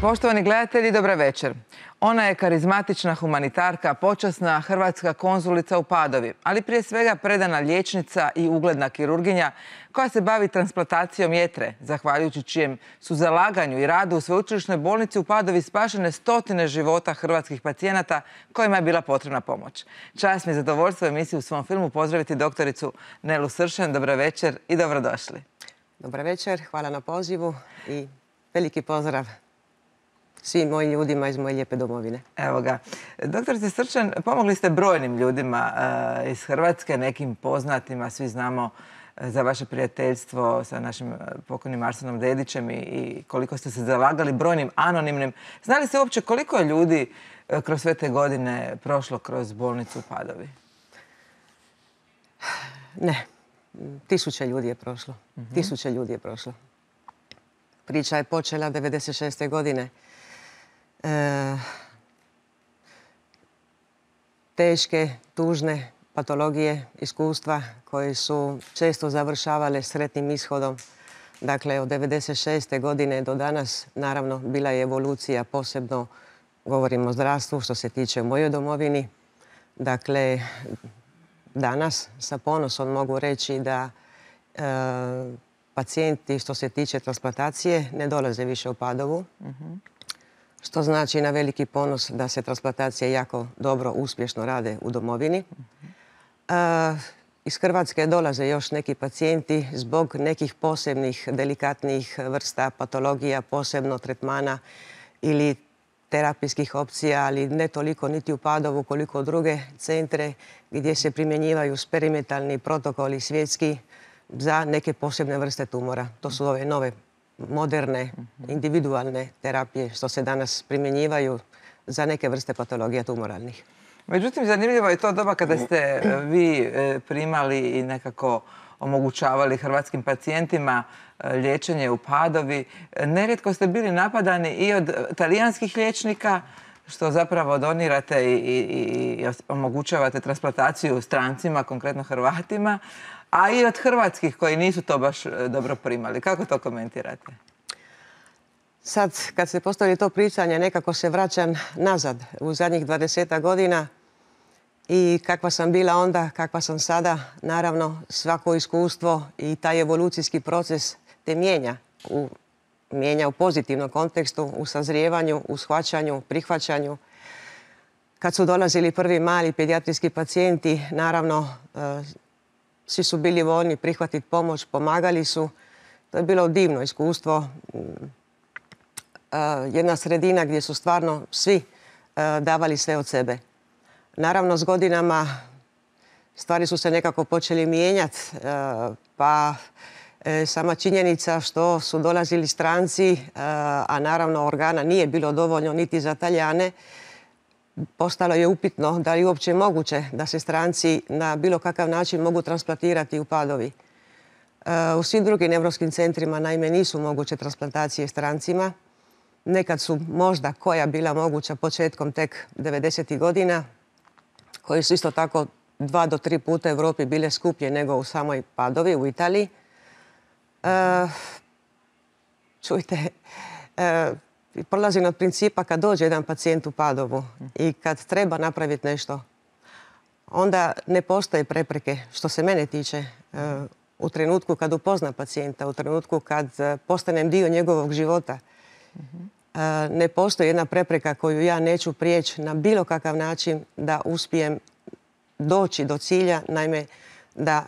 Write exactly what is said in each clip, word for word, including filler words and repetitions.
Poštovani gledatelji, dobra večer. Ona je karizmatična humanitarka, počasna hrvatska konzulica u Padovi, ali prije svega predana liječnica i ugledna kirurginja koja se bavi transplantacijom jetre, zahvaljujući čijem su zalaganju i radu u sveučilišnoj bolnici u Padovi spašene stotine života hrvatskih pacijenata kojima je bila potrebna pomoć. Čast mi je zadovoljstvo emisiju u svom filmu pozdraviti doktoricu Nelu Sršen. Dobra večer i dobrodošli. Dobra večer, hvala na pozivu i veliki pozdrav svim mojim ljudima iz moje lijepe domovine. Evo ga. Doktorice Sršen, pomogli ste brojnim ljudima uh, iz Hrvatske, nekim poznatima, svi znamo uh, za vaše prijateljstvo sa našim uh, pokojnim Arsenom Dedićem i, i koliko ste se zalagali brojnim anonimnim. Znali ste uopće koliko je ljudi uh, kroz sve te godine prošlo kroz bolnicu u Padovi? Ne. Tisuće ljudi je prošlo. Mm-hmm. Tisuće ljudi je prošlo. Priča je počela devedeset šeste. godine. E, teške, tužne patologije, iskustva koje su često završavale sretnim ishodom. Dakle, od devedeset šeste. godine do danas, naravno, bila je evolucija, posebno govorimo o zdravstvu, što se tiče mojoj domovini. Dakle, danas sa ponosom mogu reći da e, pacijenti što se tiče transplantacije ne dolaze više u Padovu. Mm-hmm. Što znači na veliki ponos da se transplantacije jako dobro, uspješno rade u domovini. Mm-hmm. E, iz Hrvatske dolaze još neki pacijenti zbog nekih posebnih, delikatnih vrsta patologija, posebno tretmana ili terapijskih opcija, ali ne toliko niti u Padovu koliko u druge centre gdje se primjenjivaju eksperimentalni protokoli svjetski za neke posebne vrste tumora. To su ove nove, moderne, individualne terapije što se danas primjenjivaju za neke vrste patologija tumoralnih. Međutim, zanimljivo je to doba kada ste vi primali i nekako omogućavali hrvatskim pacijentima liječenje u Padovi. Nerijetko ste bili napadani i od talijanskih liječnika, što zapravo donirate i, i, i omogućavate transplantaciju strancima, konkretno Hrvatima, a i od hrvatskih koji nisu to baš dobro primali. Kako to komentirate? Sad, kad se postavi to pričanje, nekako se vraćam nazad u zadnjih dvadesetak godina i kakva sam bila onda, kakva sam sada. Naravno, svako iskustvo i taj evolucijski proces te mijenja u, mijenja u pozitivnom kontekstu, u sazrijevanju, u shvaćanju, prihvaćanju. Kad su dolazili prvi mali pedijatrijski pacijenti, naravno, e, svi su bili voljni prihvatiti pomoć, pomagali su. To je bilo divno iskustvo. E, jedna sredina gdje su stvarno svi e, davali sve od sebe. Naravno, s godinama stvari su se nekako počeli mijenjati, e, pa e, sama činjenica što su dolazili stranci, e, a naravno organa nije bilo dovoljno niti za Talijane, postalo je upitno da li je uopće moguće da se stranci na bilo kakav način mogu transplantirati u Padovi. E, u svim drugim europskim centrima naime nisu moguće transplantacije strancima. Nekad su možda koja bila moguća početkom tek devedesetih godina, koji su isto tako dva do tri puta u Europi bile skuplje nego u samoj Padovi, u Italiji. E, čujte, e, prolazim od principa kad dođe jedan pacijent u Padovu i kad treba napraviti nešto, onda ne postoje prepreke, što se mene tiče, e, u trenutku kad upozna pacijenta, u trenutku kad postanem dio njegovog života. E, ne postoji jedna prepreka koju ja neću prijeći na bilo kakav način da uspijem doći do cilja, naime da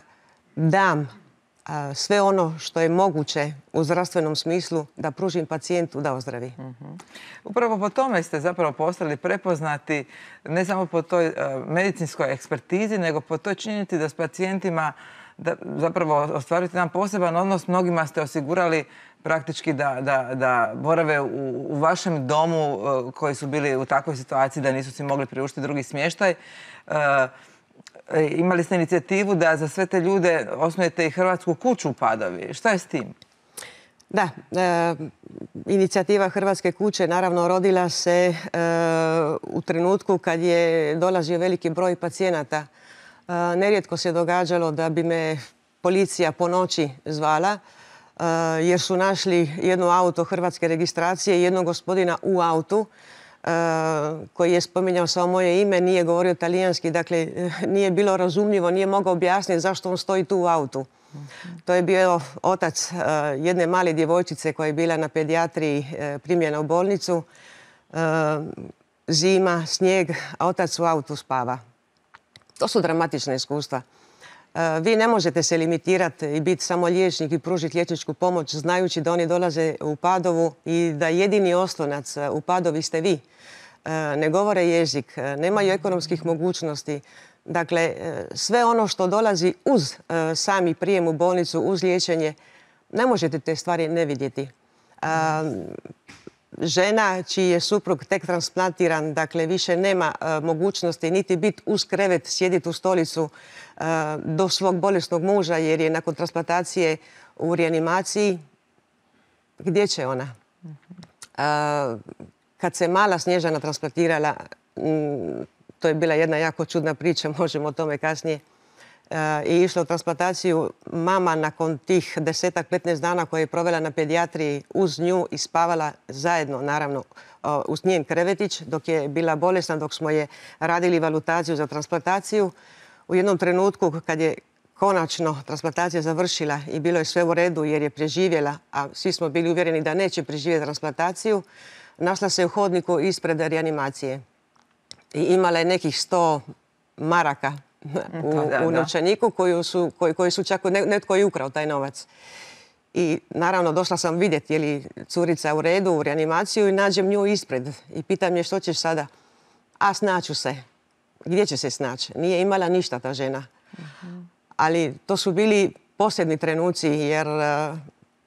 dam a, sve ono što je moguće u zdravstvenom smislu da pružim pacijentu da ozdravi. Mm-hmm. Upravo po tome ste zapravo postali prepoznati ne samo po toj a, medicinskoj ekspertizi, nego po toj činjenici da s pacijentima da zapravo ostvarujete jedan poseban odnos. Mnogima ste osigurali praktički da, da, da borave u, u vašem domu uh, koji su bili u takvoj situaciji da nisu si mogli priuštiti drugi smještaj. Uh, imali ste inicijativu da za sve te ljude osnujete i Hrvatsku kuću u Padovi. Šta je s tim? Da, e, inicijativa Hrvatske kuće naravno rodila se e, u trenutku kad je dolazio veliki broj pacijenata. E, nerijetko se događalo da bi me policija po noći zvala jer su našli jedno auto hrvatske registracije i jednog gospodina u autu koji je spominjao samo moje ime, nije govorio talijanski, dakle nije bilo razumljivo, nije mogao objasniti zašto on stoji tu u autu. To je bio otac jedne male djevojčice koja je bila na pedijatriji primljena u bolnicu. Zima, snijeg, a otac u autu spava. To su dramatična iskustva. Vi ne možete se limitirati i biti samo liječnik i pružiti liječničku pomoć znajući da oni dolaze u Padovu i da jedini oslonac u Padovi ste vi. Ne govore jezik, nemaju ekonomskih mogućnosti. Dakle, sve ono što dolazi uz sami prijem u bolnicu, uz liječenje, ne možete te stvari ne vidjeti. Žena čiji je suprug tek transplantiran, dakle više nema mogućnosti niti biti uz krevet, sjediti u stolicu do svog bolesnog muža jer je nakon transplantacije u reanimaciji. Gdje će ona? Kad se mala Snježana transplantirala, to je bila jedna jako čudna priča, možemo o tome kasnije, i išla u transplantaciju, mama nakon tih desetak, petnaest dana koje je provela na pedijatriji uz nju i spavala zajedno, naravno, uz njen krevetić dok je bila bolesna, dok smo je radili valutaciju za transplantaciju. U jednom trenutku kad je konačno transplantacija završila i bilo je sve u redu jer je preživjela, a svi smo bili uvjereni da neće preživjeti transplantaciju, našla se u hodniku ispred reanimacije i imala je nekih sto maraka u, u novčaniku koji su, koji, koji su čak netko i ukrao taj novac. I naravno došla sam vidjeti je li curica u redu u reanimaciju i nađem nju ispred i pitam je što ćeš sada. A snaću se. Gdje će se snaći? Nije imala ništa ta žena. Uh-huh. Ali to su bili posljednji trenuci jer uh,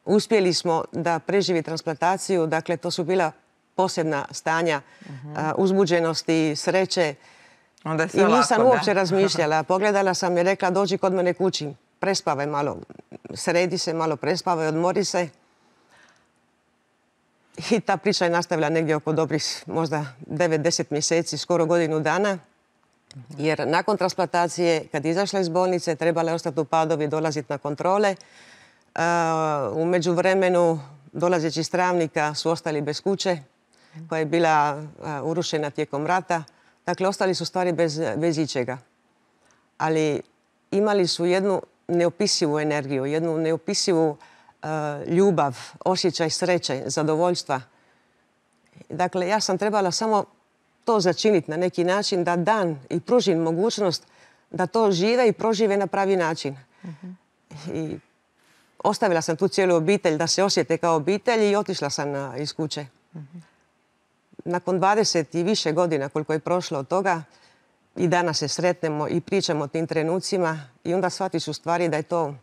uspjeli smo da preživi transplantaciju. Dakle, to su bila posljedna stanja uh-huh. uh, uzbuđenosti, sreće. Onda je sve I nisam lako, uopće da? razmišljala. Pogledala sam i rekla dođi kod mene kući. Prespavaj malo. Sredi se malo, prespavaj, odmori se. I ta priča je nastavila negdje oko dobrih možda devet deset mjeseci, skoro godinu dana. Jer nakon transplantacije, kad je izašla iz bolnice, trebala je ostati u Padovi, dolaziti na kontrole. Uh, u međuvremenu, dolazeći iz Travnika, su ostali bez kuće, koja je bila uh, urušena tijekom rata. Dakle, ostali su stvari bez, bez ičega. Ali imali su jednu neopisivu energiju, jednu neopisivu uh, ljubav, osjećaj sreće, zadovoljstva. Dakle, ja sam trebala samo to začiniti na neki način, da dan i pružim mogućnost da to žive i prožive na pravi način. Uh-huh. I ostavila sam tu cijelu obitelj da se osjete kao obitelj i otišla sam na, iz kuće. Uh-huh. Nakon dvadeset i više godina koliko je prošlo od toga, i danas se sretnemo i pričamo o tim trenucima i onda shvatiš u stvari da je to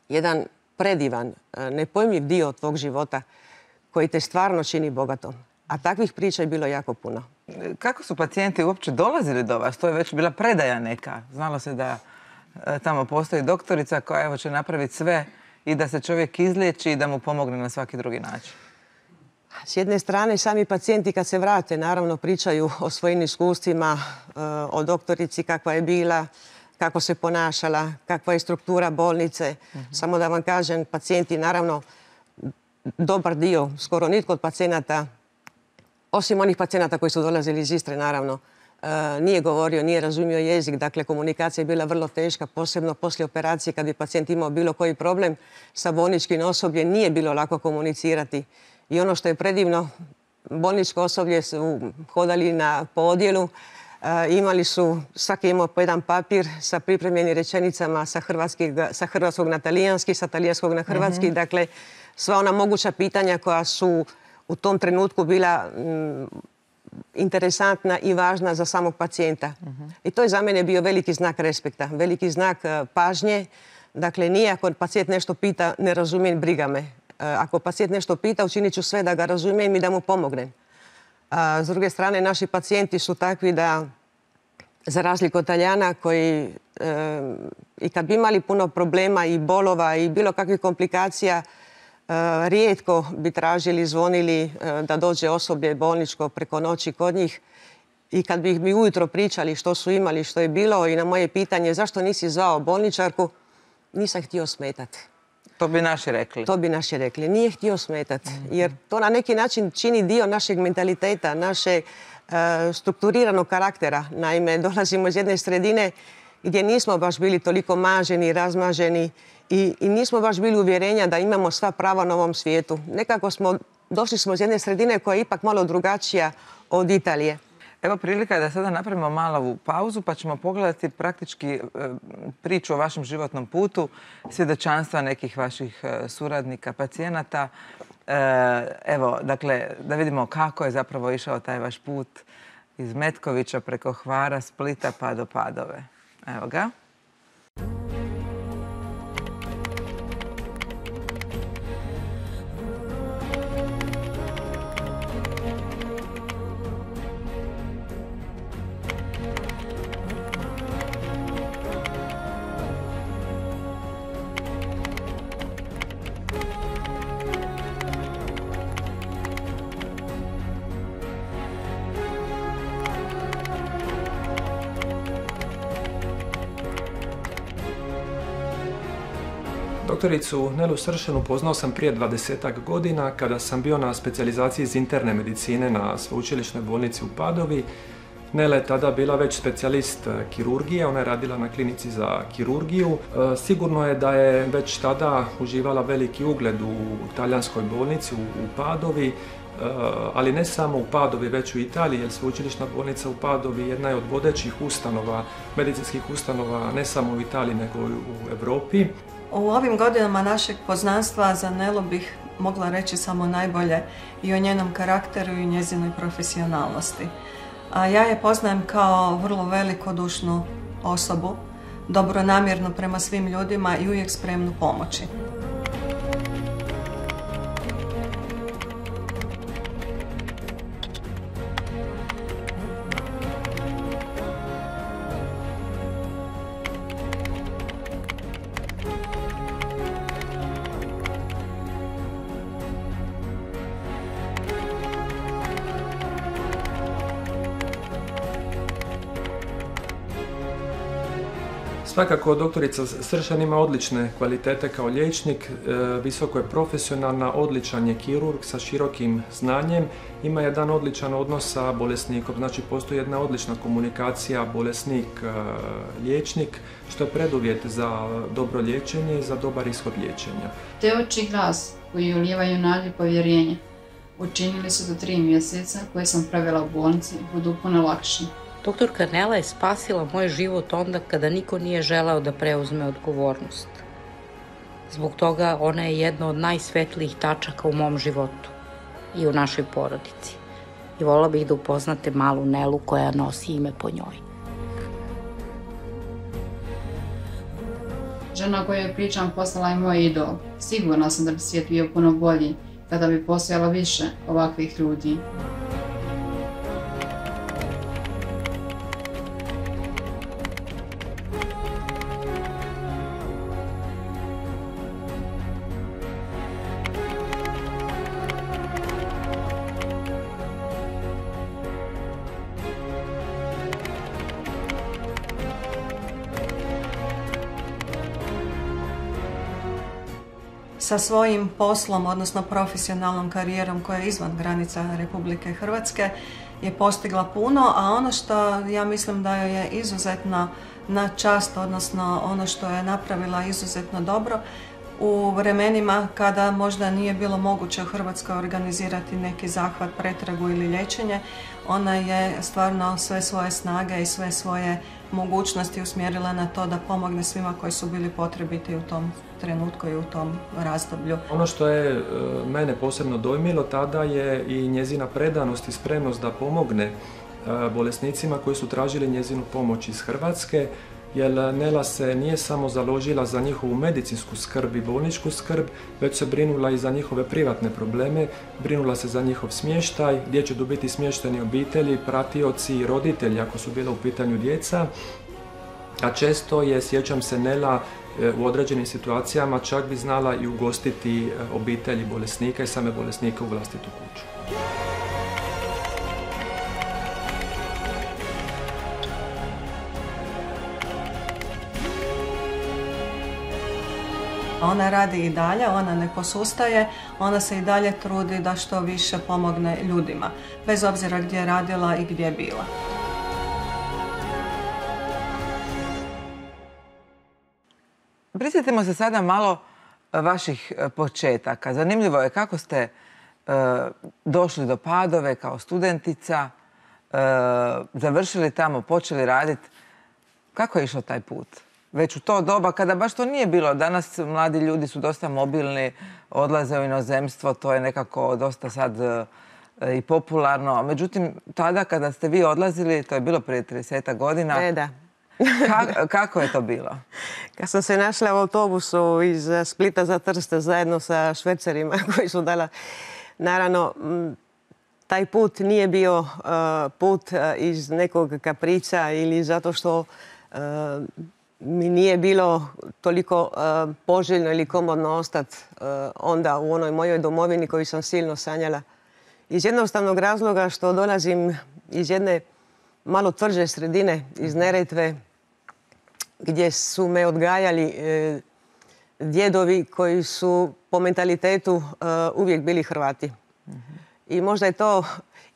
jedan predivan, nepojmljiv dio tvog života koji te stvarno čini bogatom. A takvih priča je bilo jako puno. Kako su pacijenti uopće dolazili do vas? To je već bila predaja neka. Znalo se da e, tamo postoji doktorica koja evo, će napraviti sve i da se čovjek izliječi i da mu pomogne na svaki drugi način. S jedne strane, sami pacijenti kad se vrate, naravno pričaju o svojim iskustvima, e, o doktorici kakva je bila, kako se ponašala, kakva je struktura bolnice. Uh-huh. Samo da vam kažem, pacijenti, naravno, dobar dio, skoro nitko od pacijenata, osim onih pacijenata koji su dolazili iz Istre, naravno, e, nije govorio, nije razumio jezik. Dakle, komunikacija je bila vrlo teška, posebno poslije operacije kad bi pacijent imao bilo koji problem sa bolničkim osobljem, nije bilo lako komunicirati. I ono što je predivno, bolničko osoblje su hodali na, po odjelu, e, imali su, svaki imao po jedan papir sa pripremljenim rečenicama sa, sa hrvatskog na talijanski, sa talijanskog na hrvatski. Mm-hmm. Dakle, sva ona moguća pitanja koja su u tom trenutku bila mm, interesantna i važna za samog pacijenta. Uh-huh. I to je za mene bio veliki znak respekta, veliki znak uh, pažnje. Dakle, nije ako pacijent nešto pita, ne razumijem, briga me. Uh, ako pacijent nešto pita, učinit ću sve da ga razumijem i da mu pomognem. Uh, s druge strane, naši pacijenti su takvi da, za razliku od Talijana, koji uh, i kad bi imali puno problema i bolova i bilo kakvih komplikacija, Uh, rijetko bi tražili, zvonili uh, da dođe osoblje bolničko preko noći kod njih. I kad bi mi ujutro pričali što su imali, što je bilo i na moje pitanje zašto nisi zvao bolničarku, nisam htio smetati. To bi naši rekli. To bi naši rekli. Nije htio smetati. Jer to na neki način čini dio našeg mentaliteta, naše strukturiranog karaktera. Naime, dolazimo iz jedne sredine gdje nismo baš bili toliko maženi, razmaženi i, i nismo baš bili uvjerenja da imamo sva prava na ovom svijetu. Nekako smo, došli smo iz jedne sredine koja je ipak malo drugačija od Italije. Evo prilika je da sada napravimo malu pauzu pa ćemo pogledati praktički priču o vašem životnom putu, svjedočanstva nekih vaših suradnika, pacijenata. Evo, dakle, da vidimo kako je zapravo išao taj vaš put iz Metkovića preko Hvara, Splita pa do Padove. Evo ga. Doktoricu Nelu Sršen upoznao sam prije dvadesetak godina kada sam bio na specijalizaciji iz interne medicine na sveučilišnoj bolnici u Padovi. Nela je tada bila već specijalist kirurgije, ona je radila na klinici za kirurgiju. Sigurno je da je već tada uživala veliki ugled u talijanskoj bolnici u Padovi, ali ne samo u Padovi, već u Italiji, jer sveučilišna bolnica u Padovi jedna je od vodećih ustanova, medicinskih ustanova, ne samo u Italiji, nego i u Europi. U ovim godinama našeg poznanstva za Nelu bih mogla reći samo najbolje i o njenom karakteru i njezinoj profesionalnosti. A ja je poznajem kao vrlo velikodušnu osobu, dobronamjernu prema svim ljudima i uvijek spremnu pomoći. Svakako, doktorica Sršen ima odlične kvalitete kao liječnik, visoko je profesionalna, odličan je kirurg sa širokim znanjem, ima jedan odličan odnos sa bolesnikom, znači postoji jedna odlična komunikacija bolesnik-liječnik, što je preduvjet za dobro liječenje i za dobar ishod liječenja. Te oči glas koji ulijevaju nadu i povjerenje učinili su do tri mjeseca koje sam pravila u bolnici budu puno lakše. Doktorka Nela je spasila moj život onda kada niko nije želeo da preuzme odgovornost. Zbog toga ona je jedna od najsvetlijih tačaka u mom životu i u našoj porodici. I voljela bih da upoznate malu Nelu koja nosi ime po njoj. Žena o kojoj pričam postala je moj idol. Sigurna sam da bi svijet bio puno bolji kada bi postojalo više ovakvih ljudi. Sa svojim poslom, odnosno profesionalnom karijerom koja je izvan granica Republike Hrvatske, je postigla puno, a ono što ja mislim da joj je izuzetno na čast, odnosno ono što je napravila izuzetno dobro, u vremenima kada možda nije bilo moguće u Hrvatskoj organizirati neki zahvat, pretragu ili liječenje, ona je stvarno sve svoje snage i sve svoje mogućnosti usmjerila na to da pomogne svima koji su bili potrebiti u tom trenutku i u tom razdoblju. Ono što je mene posebno dojmilo tada je i njezina predanost i spremnost da pomogne bolesnicima koji su tražili njezinu pomoć iz Hrvatske, jer Nela se nije samo založila za njihovu medicinsku skrb i bolničku skrb, već se brinula i za njihove privatne probleme, brinula se za njihov smještaj, gdje će tu biti smješteni obitelji, pratioci i roditelji ako su bila u pitanju djeca. A često je, sjećam se, Nela u određenim situacijama čak bi znala i ugostiti obitelji bolesnika i same bolesnike u vlastitu kuću. Ona radi i dalje, ona ne posustaje, ona se i dalje trudi da što više pomogne ljudima, bez obzira gdje je radila i gdje je bila. Prisjetimo se sada malo vaših početaka. Zanimljivo je kako ste e, došli do Padove kao studentica, e, završili tamo, počeli raditi. Kako je išao taj put? Već u to doba kada baš to nije bilo. Danas mladi ljudi su dosta mobilni, odlaze u inozemstvo, to je nekako dosta sad e, i popularno. Međutim, tada kada ste vi odlazili, to je bilo prije trideset godina. E, da. Ka kako je to bilo? Kad sam se našla u autobusu iz Splita za Trst zajedno sa švercerima koji su dala, naravno, taj put nije bio uh, put uh, iz nekog kaprica ili zato što uh, mi nije bilo toliko uh, poželjno ili komodno ostati uh, onda u onoj mojoj domovini koju sam silno sanjala. Iz jednostavnog razloga što dolazim iz jedne malo tvrđe sredine, iz Neretve, gdje su me odgajali e, djedovi koji su po mentalitetu e, uvijek bili Hrvati. Mm-hmm. I možda je to,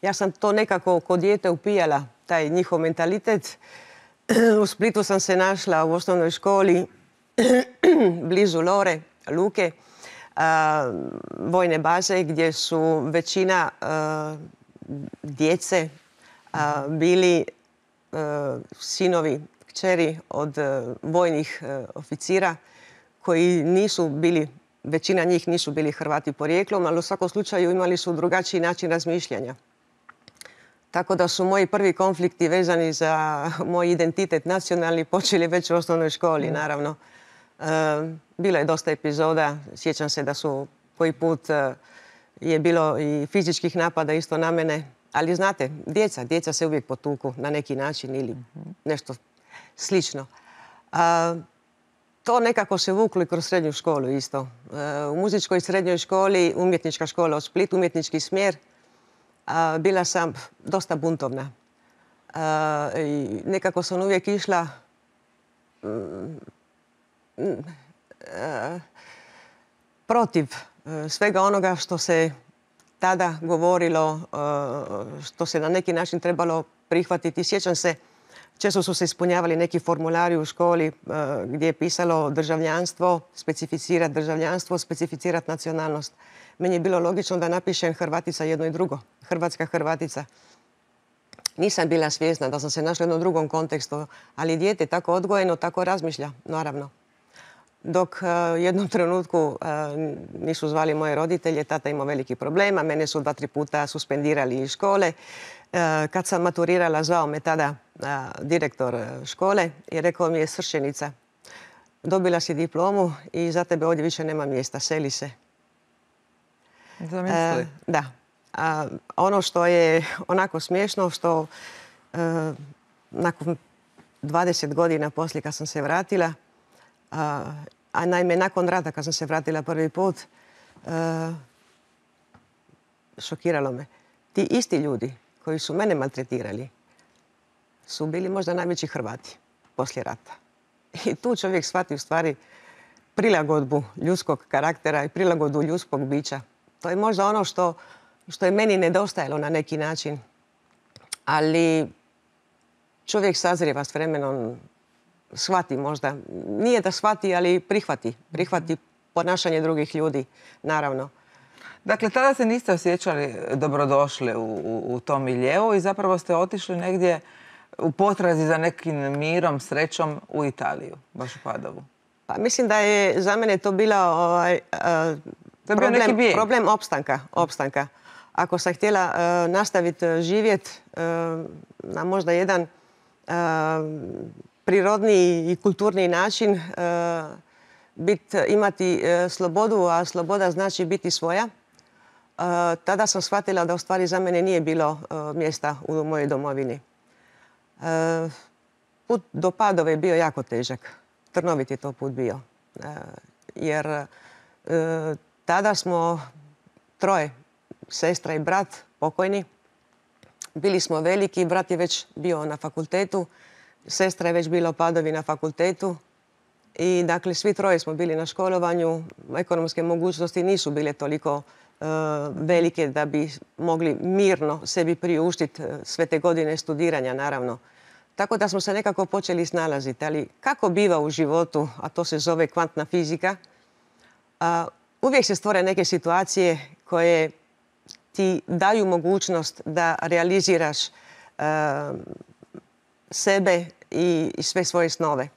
ja sam to nekako kod dijete upijala, taj njihov mentalitet. U Splitu sam se našla u osnovnoj školi, blizu Lore, Luke, a, vojne baze gdje su većina a, djece a, bili a, sinovi, kćeri od uh, vojnih uh, oficira koji nisu bili, većina njih nisu bili Hrvati porijeklom, ali u svakom slučaju imali su drugačiji način razmišljanja. Tako da su moji prvi konflikti vezani za moj identitet nacionalni počeli već u osnovnoj školi, mm. naravno. Uh, bilo je dosta epizoda, sjećam se da su koji put uh, je bilo i fizičkih napada isto na mene, ali znate, djeca, djeca se uvijek potuku na neki način ili mm-hmm. nešto slično. A, to nekako se vuklo i kroz srednju školu isto. A, u muzičkoj srednjoj školi, umjetnička škola u Splitu, umjetnički smjer, a, bila sam dosta buntovna. A, i nekako sam uvijek išla mm, a, protiv a, svega onoga što se tada govorilo, a, što se na neki način trebalo prihvatiti. Sjećam se, često su se ispunjavali neki formulari u školi uh, gdje je pisalo državljanstvo, specificirati državljanstvo, specificirati nacionalnost. Meni je bilo logično da napišem Hrvatica jedno i drugo. Hrvatska Hrvatica. Nisam bila svjesna da sam se našla u jednom drugom kontekstu, ali dijete tako odgojeno, tako razmišlja, naravno. Dok uh, u jednom trenutku uh, nisu zvali moje roditelje, tata imao veliki problema, mene su dva, tri puta suspendirali iz škole. Kad sam maturirala, zvao me tada a, direktor škole i rekao mi je: Sršenica, dobila si diplomu i za tebe ovdje više nema mjesta, seli se. Zamisli. Da. A, ono što je onako smiješno, što a, nakon dvadeset godina poslije kad sam se vratila, a, a naime nakon rata kad sam se vratila prvi put, a, šokiralo me. Ti isti ljudi koji su mene maltretirali su bili možda najveći Hrvati poslije rata. I tu čovjek shvati u stvari prilagodbu ljudskog karaktera i prilagodbu ljudskog bića. To je možda ono što, što je meni nedostajalo na neki način. Ali čovjek sazrijeva s vremenom, shvati možda. Nije da shvati, ali prihvati. Prihvati ponašanje drugih ljudi, naravno. Dakle, tada se niste osjećali dobrodošli u, u, u tom miljeu i zapravo ste otišli negdje u potrazi za nekim mirom, srećom u Italiju, baš u Padovu. Pa, mislim da je za mene to bila ovaj, uh, to je bio neki bijeg. Problem opstanka, opstanka. Ako sam htjela uh, nastaviti živjeti uh, na možda jedan uh, prirodni i kulturni način, uh, bit, imati uh, slobodu, a sloboda znači biti svoja, uh, tada sam shvatila da u stvari za mene nije bilo uh, mjesta u mojoj domovini. Uh, put do Padove je bio jako težak. Trnovit je to put bio. Uh, jer uh, tada smo troje, sestra i brat, pokojni. Bili smo veliki, brat je već bio na fakultetu, sestra je već bila u Padovi na fakultetu. I dakle, svi troje smo bili na školovanju. Ekonomske mogućnosti nisu bile toliko velike da bi mogli mirno sebi priuštiti sve te godine studiranja, naravno. Tako da smo se nekako počeli snalaziti. Ali kako biva u životu, a to se zove kvantna fizika, uvijek se stvore neke situacije koje ti daju mogućnost da realiziraš sebe i sve svoje snove.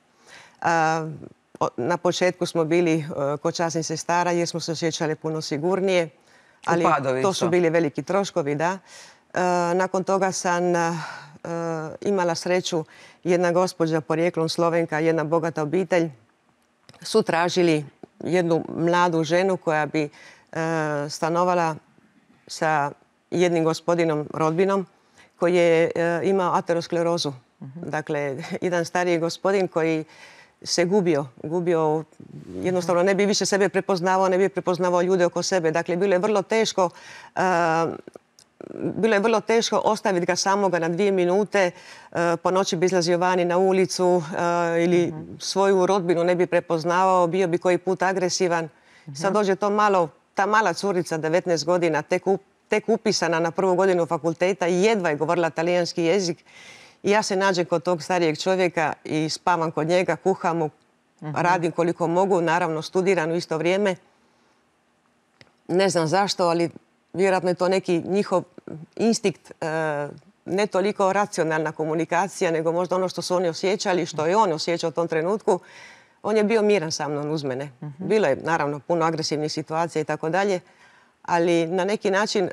Na početku smo bili kod časnih sestara jer smo se osjećali puno sigurnije. Ali to su bili veliki troškovi, da. Nakon toga sam imala sreću, jedna gospođa porijeklom Slovenka, jedna bogata obitelj, su tražili jednu mladu ženu koja bi stanovala sa jednim gospodinom rodbinom koji je imao aterosklerozu. Dakle, jedan stariji gospodin koji se gubio, gubio, jednostavno ne bi više sebe prepoznavao, ne bi prepoznavao ljude oko sebe. Dakle, bilo je vrlo teško, uh, bilo je vrlo teško ostaviti ga samoga na dvije minute, uh, po noći bi izlazio vani na ulicu uh, ili mm-hmm. svoju rodbinu ne bi prepoznavao, bio bi koji put agresivan. Mm-hmm. Sad dođe to malo, ta mala curica, devetnaest godina, tek, up, tek upisana na prvu godinu fakulteta i jedva je govorila talijanski jezik. I ja se nađem kod tog starijeg čovjeka i spavam kod njega, kuham mu, uh-huh. radim koliko mogu, naravno studiram u isto vrijeme. Ne znam zašto, ali vjerojatno je to neki njihov instinkt, e, ne toliko racionalna komunikacija, nego možda ono što su oni osjećali, što je on osjećao u tom trenutku. On je bio miran sa mnom uz mene. Uh-huh. Bilo je naravno puno agresivnih situacija i tako dalje, ali na neki način e,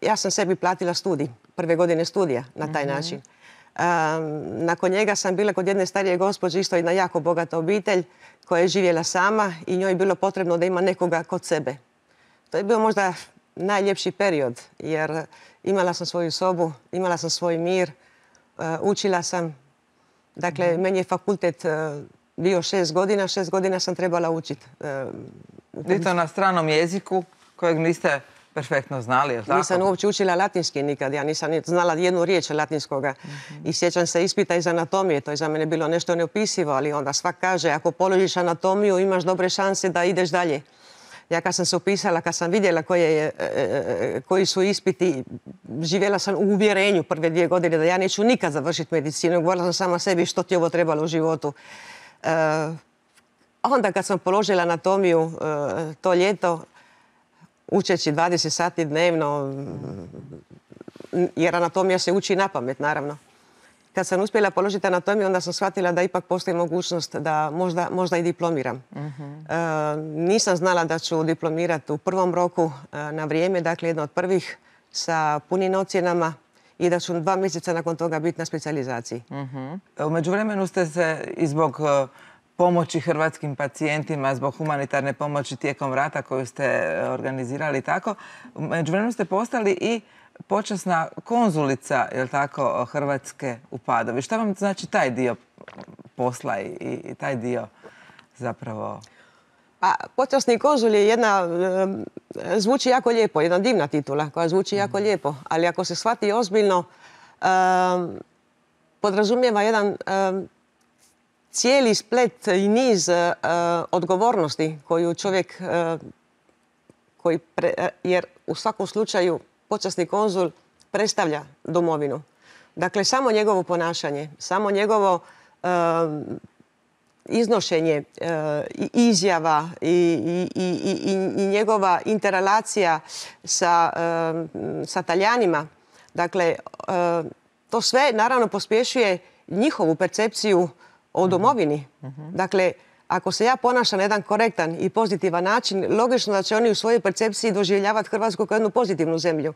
ja sam sebi platila studij, prve godine studija na taj uh-huh. način. Um, nakon njega sam bila kod jedne starije gospođe, isto jedna jako bogata obitelj koja je živjela sama i njoj je bilo potrebno da ima nekoga kod sebe. To je bio možda najljepši period jer imala sam svoju sobu, imala sam svoj mir, uh, učila sam. Dakle, mm-hmm. meni je fakultet uh, bio šest godina, šest godina sam trebala učiti. Uh, I to na stranom jeziku kojeg niste perfektno znali, je li tako? Nisam uopće učila latinski nikad. Ja nisam znala jednu riječ latinskoga. Mm-hmm. I sjećam se ispita iz anatomije. To je za mene bilo nešto neopisivo, ali onda svak kaže ako položiš anatomiju imaš dobre šanse da ideš dalje. Ja kad sam se upisala, kad sam vidjela koje, e, koji su ispiti, živjela sam u uvjerenju prve dvije godine da ja neću nikad završiti medicinu. Govorila sam sama sebi što ti ovo trebalo u životu. E, onda kad sam položila anatomiju e, to ljeto, učeći dvadeset sati dnevno, jer anatomija se uči na pamet, naravno. Kad sam uspjela položiti anatomiju, onda sam shvatila da ipak postoji mogućnost da možda, možda i diplomiram. Uh-huh. E, nisam znala da ću diplomirati u prvom roku e, na vrijeme, dakle jedno od prvih sa punim ocjenama i da ću dva mjeseca nakon toga biti na specijalizaciji. Uh-huh. U međuvremenu ste se i zbog pomoći hrvatskim pacijentima, zbog humanitarne pomoći tijekom rata koju ste organizirali tako, u međuvremenu ste postali i počasna konzulica, je li tako, Hrvatske u Padovi. Šta vam znači taj dio posla i, i taj dio zapravo? Pa, počasni konzul je jedna, e, zvuči jako lijepo, jedna divna titula koja zvuči jako mm. lijepo, ali ako se shvati ozbiljno, e, podrazumijeva jedan e, cijeli splet i niz e, odgovornosti koju čovjek, e, koji pre, jer u svakom slučaju počasni konzul predstavlja domovinu. Dakle, samo njegovo ponašanje, samo njegovo e, iznošenje e, izjava i, i, i, i njegova interrelacija sa, e, sa Talijanima, dakle, e, to sve naravno pospješuje njihovu percepciju o domovini. Uh-huh. Dakle, ako se ja ponašam na jedan korektan i pozitivan način, logično da će oni u svojoj percepciji doživljavati Hrvatsku kao jednu pozitivnu zemlju.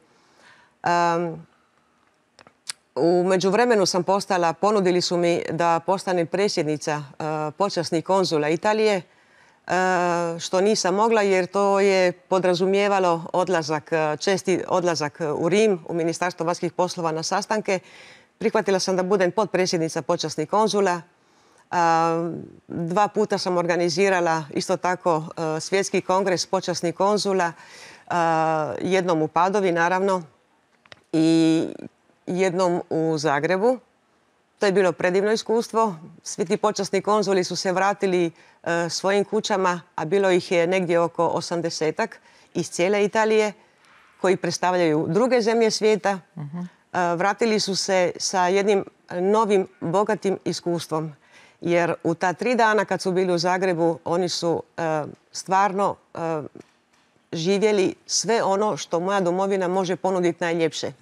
Um, u međuvremenu sam postala, ponudili su mi da postanem predsjednica uh, počasnih konzula Italije, uh, što nisam mogla jer to je podrazumijevalo odlazak, česti odlazak u Rim, u Ministarstvo vanjskih poslova na sastanke. Prihvatila sam da budem potpredsjednica počasnih konzula. Uh, dva puta sam organizirala isto tako uh, svjetski kongres počasnih konzula, uh, jednom u Padovi naravno i jednom u Zagrebu. To je bilo predivno iskustvo. Svi ti počasni konzuli su se vratili e, svojim kućama, a bilo ih je negdje oko osamdesetak iz cijele Italije, koji predstavljaju druge zemlje svijeta. Uh-huh. e, vratili su se sa jednim novim, bogatim iskustvom. Jer u ta tri dana kad su bili u Zagrebu, oni su e, stvarno e, živjeli sve ono što moja domovina može ponuditi najljepše.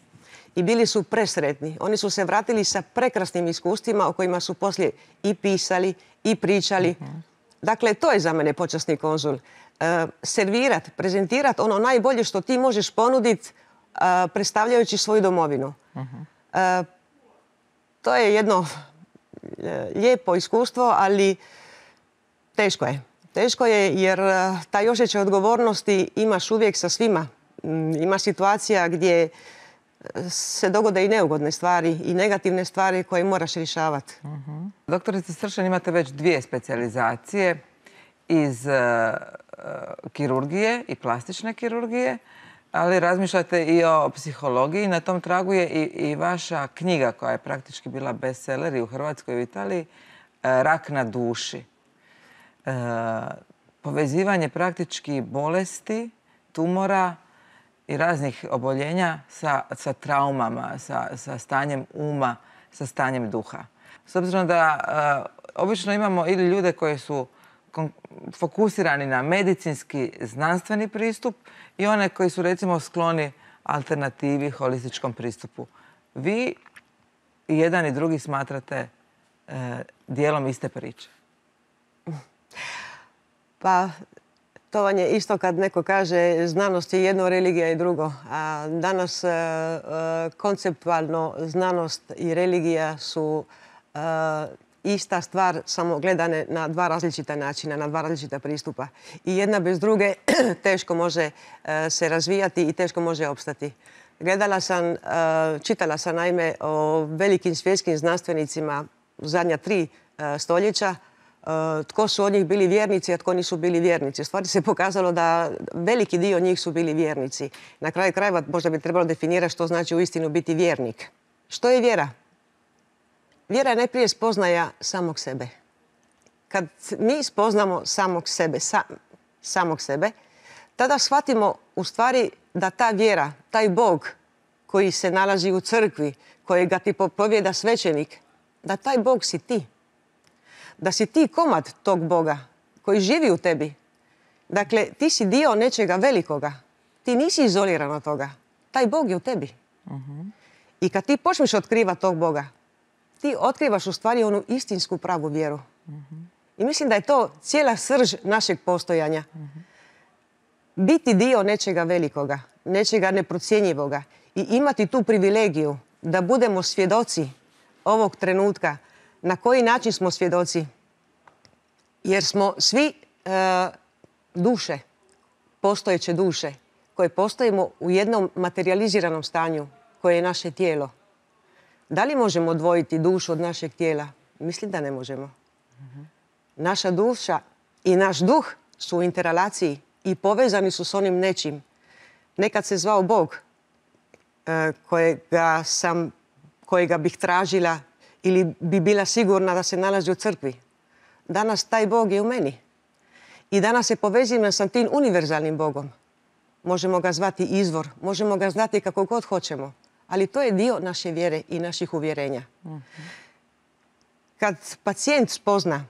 I bili su presretni. Oni su se vratili sa prekrasnim iskustvima o kojima su poslije i pisali i pričali. Uh-huh. Dakle, to je za mene počasni konzul. E, servirat, prezentirat ono najbolje što ti možeš ponuditi e, predstavljajući svoju domovinu. Uh-huh. E, to je jedno e, lijepo iskustvo, ali teško je. Teško je jer e, taj osjećaj odgovornosti imaš uvijek sa svima. Ima situacija gdje se dogode i neugodne stvari i negativne stvari koje moraš rješavati. Uh-huh. Doktorice Stršan, imate već dvije specijalizacije iz uh, kirurgije i plastične kirurgije, ali razmišljate i o psihologiji. Na tom tragu je i, i vaša knjiga koja je praktički bila bestseller i u Hrvatskoj i u Italiji, uh, Rak na duši. Uh, povezivanje praktički bolesti, tumora i raznih oboljenja sa, sa traumama, sa, sa stanjem uma, sa stanjem duha. S obzirom da uh, obično imamo ili ljude koji su fokusirani na medicinski, znanstveni pristup i one koji su recimo skloni alternativi, holističkom pristupu. Vi i jedan i drugi smatrate uh, dijelom iste priče. Pa... To vam je isto kad neko kaže znanost je jedno, religija je drugo. A danas e, e, konceptualno znanost i religija su e, ista stvar, samo gledane na dva različita načina, na dva različita pristupa. I jedna bez druge teško može e, se razvijati i teško može opstati. Gledala sam, e, čitala sam naime o velikim svjetskim znanstvenicima u zadnja tri e, stoljeća, Uh, tko su od njih bili vjernici, a tko nisu bili vjernici. U stvari se pokazalo da veliki dio njih su bili vjernici. Na kraju krajeva možda bi trebalo definirati što znači uistinu biti vjernik. Što je vjera? Vjera je najprije spoznaja samog sebe. Kad mi spoznamo samog sebe, sa, samog sebe, tada shvatimo u stvari da ta vjera, taj Bog koji se nalazi u crkvi, kojega ti propovijeda svećenik, da taj Bog si ti. Da si ti komad tog Boga koji živi u tebi. Dakle, ti si dio nečega velikoga. Ti nisi izoliran od toga. Taj Bog je u tebi. Uh-huh. I kad ti počneš otkrivati tog Boga, ti otkrivaš u stvari onu istinsku pravu vjeru. Uh-huh. I mislim da je to cijela srž našeg postojanja. Uh-huh. Biti dio nečega velikoga, nečega neprocjenjivoga i imati tu privilegiju da budemo svjedoci ovog trenutka. Na koji način smo svjedoci? Jer smo svi e, duše, postojeće duše, koje postojimo u jednom materializiranom stanju, koje je naše tijelo. Da li možemo odvojiti dušu od našeg tijela? Mislim da ne možemo. Mm-hmm. Naša duša i naš duh su u interrelaciji i povezani su s onim nečim. Nekad se zvao Bog, e, kojega sam, kojega bih tražila ili bi bila sigurna da se nalazi u crkvi. Danas taj Bog je u meni. I danas se povezujem sa tim univerzalnim Bogom. Možemo ga zvati izvor, možemo ga znati kako god hoćemo. Ali to je dio naše vjere i naših uvjerenja. Mm-hmm. Kad pacijent spozna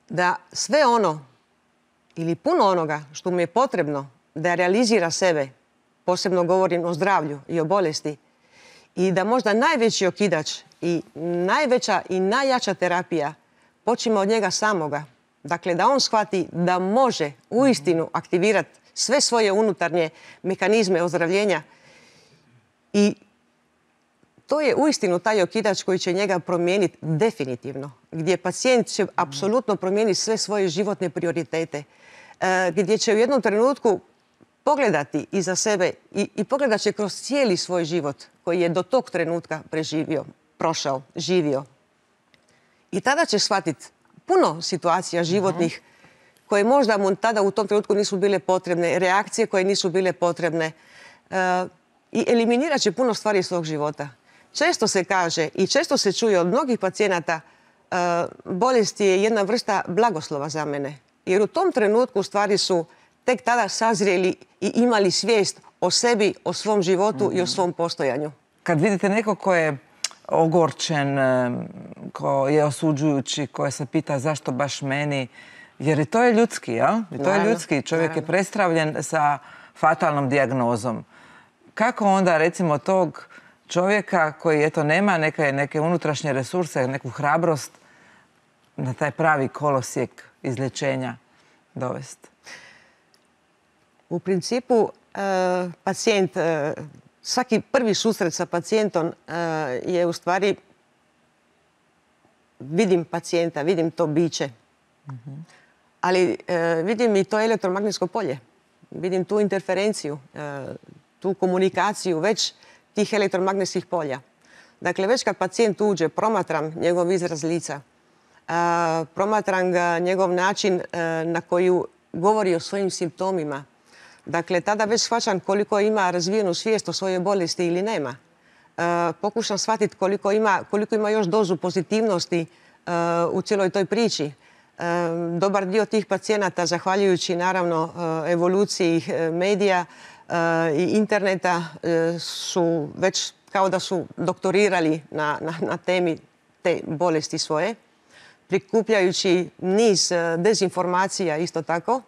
da sve ono ili puno onoga što mu je potrebno da realizira sebe, posebno govorim o zdravlju i o bolesti, i da možda najveći okidač i najveća i najjača terapija počima od njega samoga. Dakle, da on shvati da može uistinu aktivirati sve svoje unutarnje mehanizme ozdravljenja. I to je uistinu taj okidač koji će njega promijeniti definitivno. Gdje pacijent će apsolutno promijeniti sve svoje životne prioritete. Gdje će u jednom trenutku pogledati iza sebe i, i pogledat će kroz cijeli svoj život koji je do tog trenutka preživio, prošao, živio. I tada će shvatiti puno situacija životnih koje možda mu tada u tom trenutku nisu bile potrebne, reakcije koje nisu bile potrebne. E, I eliminirat će puno stvari iz svog života. često se kaže i često se čuje od mnogih pacijenata, bolest je jedna vrsta blagoslova za mene. Jer u tom trenutku u stvari su tek tada sazrijeli i imali svijest o sebi, o svom životu i o svom postojanju. Kad vidite neko ko je ogorčen, ko je osuđujući, ko se pita zašto baš meni, jer i to je ljudski, jel? I to je ljudski. Čovjek je prestravljen sa fatalnom dijagnozom. Kako onda, recimo, tog čovjeka koji, eto, nema neke, neke unutrašnje resurse, neku hrabrost na taj pravi kolosijek izlječenja dovesti? U principu, pacijent, svaki prvi susret sa pacijentom je u stvari vidim pacijenta, vidim to biće. Ali vidim i to elektromagnetsko polje. Vidim tu interferenciju, tu komunikaciju već tih elektromagnetskih polja. Dakle, već kad pacijent uđe, promatram njegov izraz lica, promatram ga njegov način na koji govori o svojim simptomima. Dakle, tada već shvaćam koliko ima razvijenu svijest o svojoj bolesti ili nema. Pokušam shvatiti koliko ima, koliko ima još dozu pozitivnosti u cijeloj toj priči. Dobar dio tih pacijenata, zahvaljujući naravno evoluciji medija i interneta, su već kao da su doktorirali na, na, na temi te bolesti svoje, prikupljajući niz dezinformacija isto tako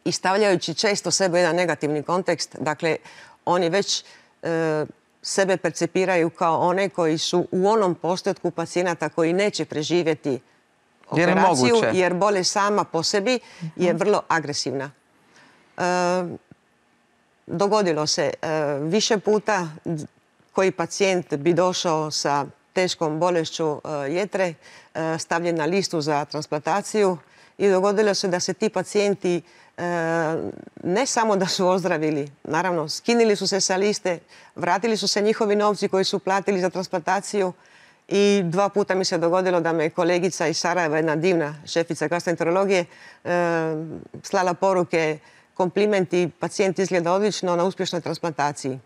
i stavljajući često sebe u jedan negativni kontekst. Dakle, oni već e, sebe percepiraju kao one koji su u onom postotku pacijenata koji neće preživjeti operaciju, jer, jer bolest sama po sebi je vrlo agresivna. E, dogodilo se e, više puta koji pacijent bi došao sa teškom bolešću e, jetre, e, stavljen na listu za transplantaciju i dogodilo se da se ti pacijenti e, ne samo da su ozdravili, naravno skinili su se sa liste, vratili su se njihovi novci koji su platili za transplantaciju i dva puta mi se dogodilo da me kolegica iz Sarajeva, jedna divna šefica gastroenterologije, e, slala poruke, komplimenti, pacijent izgleda odlično na uspješnoj transplantaciji.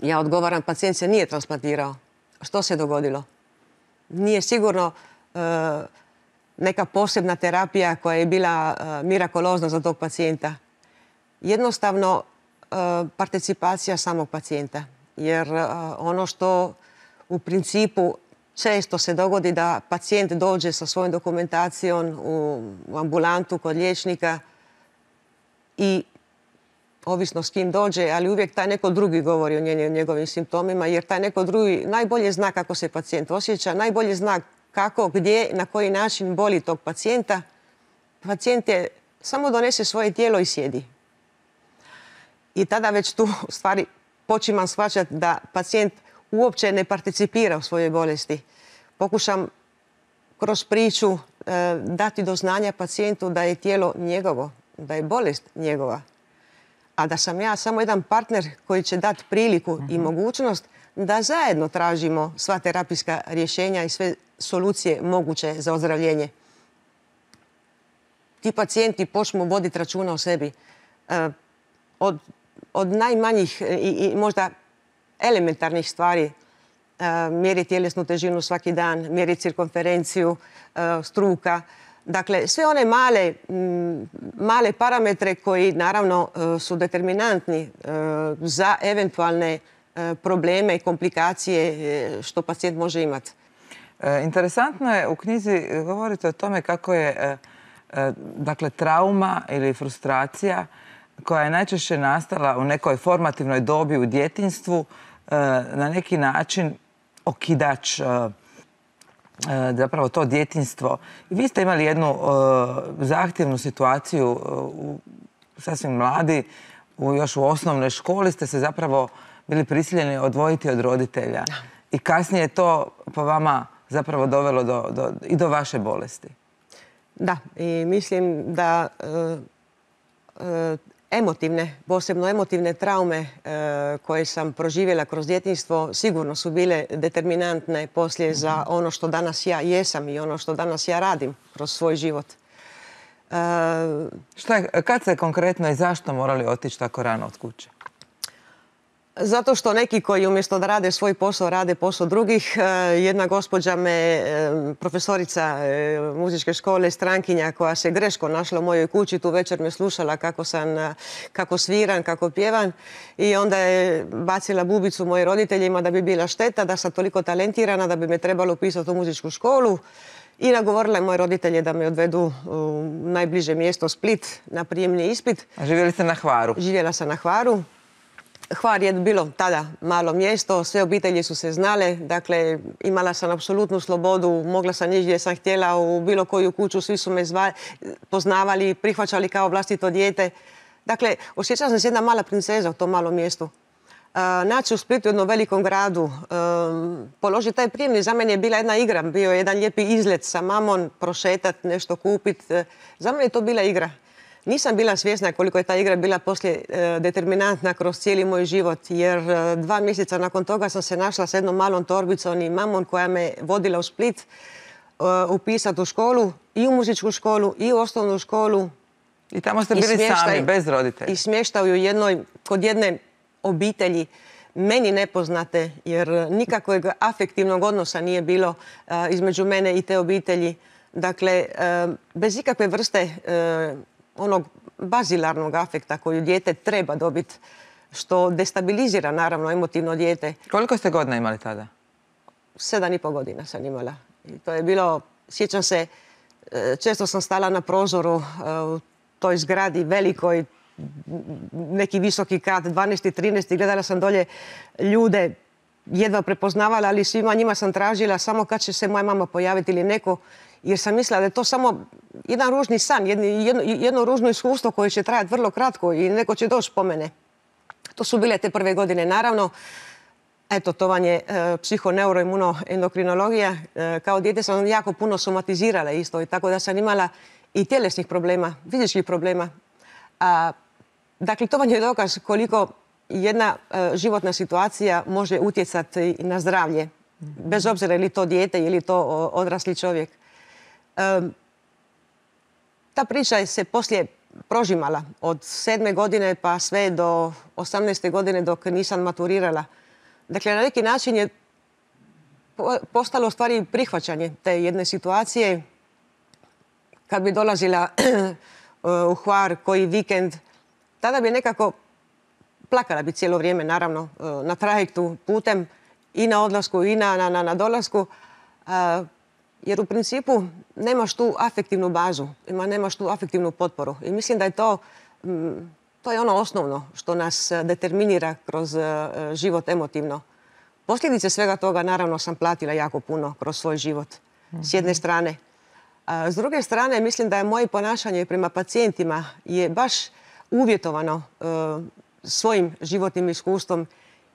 Ja odgovaram, pacijent se nije transplantirao. Što se dogodilo? Nije sigurno e, neka posebna terapija koja je bila e, mirakolozna za tog pacijenta. Jednostavno e, participacija samog pacijenta. Jer e, ono što u principu često se dogodi da pacijent dođe sa svojom dokumentacijom u, u ambulantu kod liječnika i ovisno s kim dođe, ali uvijek taj neko drugi govori o njegovim simptomima, jer taj neko drugi najbolje zna kako se pacijent osjeća, najbolje zna kako, gdje, na koji način boli tog pacijenta. Pacijent je samo donese svoje tijelo i sjedi. I tada već tu u stvari počimam shvaćati da pacijent uopće ne participira u svojoj bolesti. Pokušam kroz priču e, dati do znanja pacijentu da je tijelo njegovo, da je bolest njegova. A da sam ja samo jedan partner koji će dati priliku i mogućnost da zajedno tražimo sva terapijska rješenja i sve solucije moguće za ozdravljenje. Ti pacijenti počnu voditi računa o sebi. Od, od najmanjih i, i možda elementarnih stvari, mjeriti tjelesnu težinu svaki dan, mjeriti cirkumferenciju, struka. Dakle, sve one male, male parametre koji naravno su determinantni za eventualne probleme i komplikacije što pacijent može imati. Interesantno je, u knjizi govorite o tome kako je dakle, trauma ili frustracija koja je najčešće nastala u nekoj formativnoj dobi u djetinjstvu na neki način okidač zapravo to djetinjstvo. I vi ste imali jednu uh, zahtjevnu situaciju uh, sasvim mladi, u, još u osnovnoj školi ste se zapravo bili prisiljeni odvojiti od roditelja. I kasnije je to po vama zapravo dovelo do, do, i do vaše bolesti. Da, i mislim da uh, uh, emotivne, posebno emotivne traume e, koje sam proživjela kroz djetinjstvo sigurno su bile determinantne poslije za ono što danas ja jesam i ono što danas ja radim kroz svoj život. E, Šta je, kad ste konkretno i zašto morali otići tako rano od kuće? Zato što neki koji umjesto da rade svoj posao, rade posao drugih. Jedna gospođa me, profesorica muzičke škole, strankinja koja se greško našla u mojoj kući, tu večer me slušala kako sam, kako sviram, kako pjevam i onda je bacila bubicu mojim roditeljima da bi bila šteta, da sam toliko talentirana, da bi me trebalo upisati u muzičku školu. I nagovorila je moje roditelje da me odvedu u najbliže mjesto Split na prijemni ispit. A živjeli ste na Hvaru? Živjela sam na Hvaru. Hvar je bilo tada malo mjesto, sve obitelji su se znale, dakle imala sam apsolutnu slobodu, mogla sam ići gdje sam htjela u bilo koju kuću, svi su me zvali, poznavali, prihvaćali kao vlastito dijete. Dakle, osjećala sam se jedna mala princeza u tom malom mjestu. Uh, naći u Splitu, u jednom velikom gradu, um, položiti taj prijemni, za mene je bila jedna igra, bio je jedan lijepi izlet sa mamom, prošetat, nešto kupit. Uh, za mene je to bila igra. Nisam bila svjesna koliko je ta igra bila poslije uh, determinantna kroz cijeli moj život, jer uh, dva mjeseca nakon toga sam se našla s jednom malom torbicom i mamom koja me vodila u Split uh, upisati u školu, i u muzičku školu, i u osnovnu školu. I tamo ste bili sami, bez roditelja? I smještaju jednoj, kod jedne obitelji, meni nepoznate, jer nikakvog afektivnog odnosa nije bilo uh, između mene i te obitelji. Dakle, uh, bez ikakve vrste uh, onog bazilarnog afekta koju dijete treba dobiti, što destabilizira naravno emotivno dijete. Koliko ste godina imali tada? Sedam i pol godina sam imala. I to je bilo, sjećam se, uh, često sam stala na prozoru uh, u toj zgradi velikoj, neki visoki kat, dvanaesti trinaesti, gledala sam dolje ljude, jedva prepoznavala, ali svima njima sam tražila samo kad će se moja mama pojaviti ili neko, jer sam mislila da je to samo jedan ružni san, jedno, jedno, jedno ružno iskustvo koje će trajati vrlo kratko i neko će doći po mene. To su bile te prve godine, naravno. Eto, to vam je e, psihoneuroimunoendokrinologija. E, kao dijete sam jako puno somatizirala isto, i tako da sam imala i tjelesnih problema, fizičkih problema. A, dakle, to vam je dokaz koliko jedna e, životna situacija može utjecati na zdravlje, bez obzira je li to dijete ili to o, odrasli čovjek. E, ta priča se poslije prožimala od sedme godine pa sve do osamnaeste godine dok nisam maturirala. Dakle, na neki način je postalo u stvari prihvaćanje te jedne situacije. Kad bi dolazila u Hvar koji vikend, tada bi nekako plakala bi cijelo vrijeme, naravno, na trajektu putem i na odlasku i na, na, na dolasku, jer u principu nemaš tu afektivnu bazu, nemaš tu afektivnu potporu. I mislim da je to, to je ono osnovno što nas determinira kroz život emotivno. Posljedice svega toga, naravno, sam platila jako puno kroz svoj život, s jedne strane. A s druge strane, mislim da je moje ponašanje prema pacijentima je baš uvjetovano uh, svojim životnim iskustvom,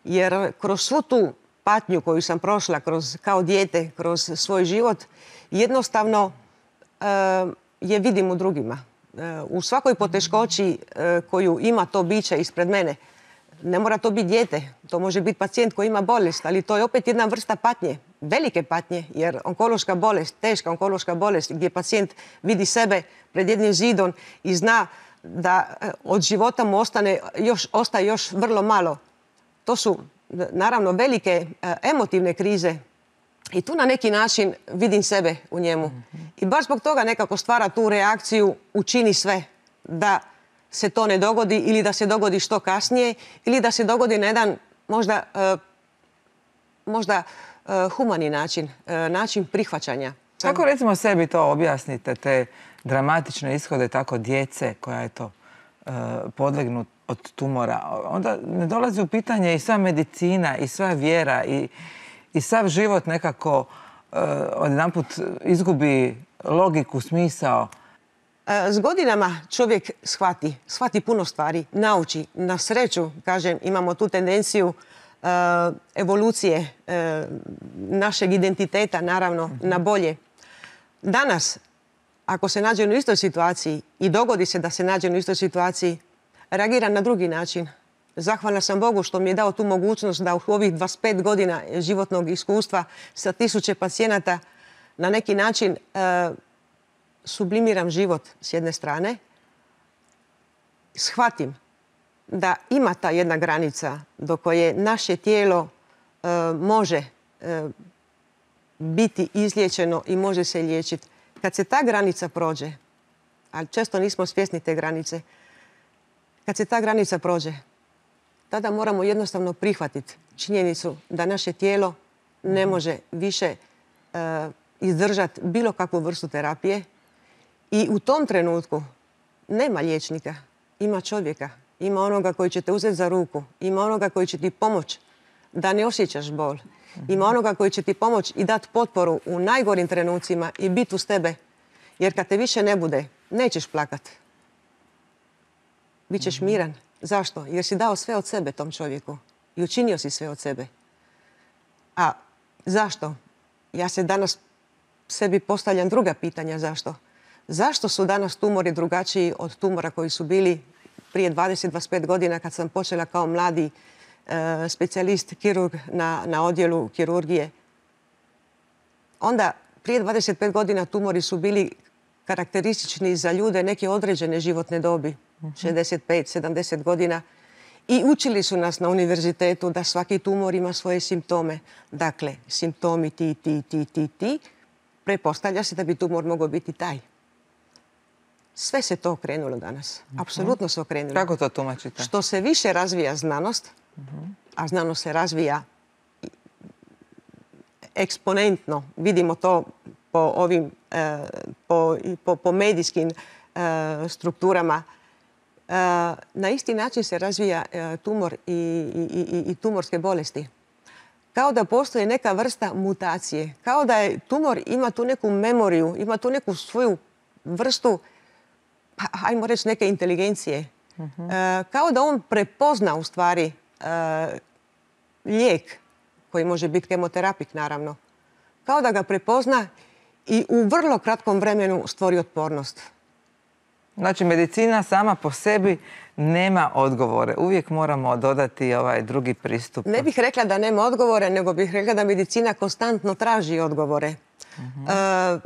jer kroz svu tu patnju koju sam prošla kroz, kao dijete kroz svoj život, jednostavno uh, je vidim u drugima. Uh, u svakoj poteškoći uh, koju ima to biće ispred mene, ne mora to biti dijete, to može biti pacijent koji ima bolest, ali to je opet jedna vrsta patnje, velike patnje, jer onkološka bolest, teška onkološka bolest gdje pacijent vidi sebe pred jednim zidom i zna da od života mu ostane još, ostaje još vrlo malo. To su naravno velike emotivne krize i tu na neki način vidim sebe u njemu. I baš zbog toga nekako stvara tu reakciju, učini sve da se to ne dogodi ili da se dogodi što kasnije ili da se dogodi na jedan možda, uh, možda uh, humani način, uh, način prihvaćanja. Kako recimo sebi to objasnite, te dramatične ishode tako djece koja je to uh, podlegnut od tumora? Onda ne dolazi u pitanje i sva medicina i sva vjera i, i sav život nekako uh, odjedanput izgubi logiku, smisao. S godinama čovjek shvati, shvati puno stvari, nauči. Na sreću, kažem, imamo tu tendenciju uh, evolucije uh, našeg identiteta, naravno, na bolje. Danas, ako se nađe u istoj situaciji i dogodi se da se nađe u istoj situaciji, reagira na drugi način. Zahvalna sam Bogu što mi je dao tu mogućnost da u ovih dvadeset pet godina životnog iskustva sa tisuće pacijenata na neki način uh, sublimiram život s jedne strane, shvatim da ima ta jedna granica do koje naše tijelo e, može e, biti izliječeno i može se liječiti. Kad se ta granica prođe, ali često nismo svjesni te granice, kad se ta granica prođe, tada moramo jednostavno prihvatiti činjenicu da naše tijelo ne može više uh, izdržati bilo kakvu vrstu terapije i u tom trenutku nema liječnika, ima čovjeka, ima onoga koji će te uzeti za ruku, ima onoga koji će ti pomoći da ne osjećaš bol, ima onoga koji će ti pomoći i dati potporu u najgorim trenucima i biti uz tebe, jer kad te više ne bude, nećeš plakati. Bićeš miran. Zašto? Jer si dao sve od sebe tom čovjeku i učinio si sve od sebe. A zašto? Ja se danas sebi postavljam druga pitanja zašto. Zašto su danas tumori drugačiji od tumora koji su bili prije dvadeset do dvadeset pet godina kad sam počela kao mladi e, specijalist kirurg na, na odjelu kirurgije? Onda prije dvadeset pet godina tumori su bili karakteristični za ljude neke određene životne dobi, šezdeset pet sedamdeset godina. I učili su nas na univerzitetu da svaki tumor ima svoje simptome. Dakle, simptomi ti, ti, ti, ti, ti. Pretpostavlja se da bi tumor mogao biti taj. Sve se to okrenulo danas. Apsolutno se okrenulo. Kako to tumačite? Što se više razvija znanost, a znanost se razvija eksponentno, vidimo to po ovim, eh, po, po, po medijskim eh, strukturama, eh, na isti način se razvija eh, tumor i, i, i, i tumorske bolesti. Kao da postoji neka vrsta mutacije. Kao da je tumor ima tu neku memoriju, ima tu neku svoju vrstu, pa, ajmo reći, neke inteligencije. Uh-huh. E, kao da on prepozna u stvari e, lijek, koji može biti kemoterapik naravno. Kao da ga prepozna i u vrlo kratkom vremenu stvori otpornost. Znači, medicina sama po sebi nema odgovore. Uvijek moramo dodati ovaj drugi pristup. Ne bih rekla da nema odgovore, nego bih rekla da medicina konstantno traži odgovore. Uh-huh. E,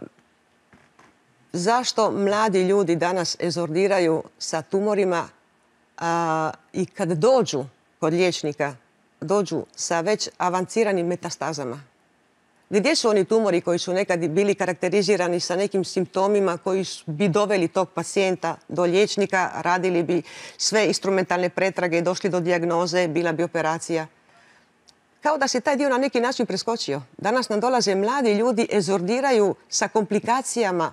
zašto mladi ljudi danas ezordiraju sa tumorima a, i kad dođu kod liječnika, dođu sa već avanciranim metastazama? Gdje su oni tumori koji su nekad bili karakterizirani sa nekim simptomima koji bi doveli tog pacijenta do liječnika, radili bi sve instrumentalne pretrage, došli do dijagnoze, bila bi operacija? Kao da se taj dio na neki način preskočio. Danas nam dolaze mladi ljudi, ezordiraju sa komplikacijama,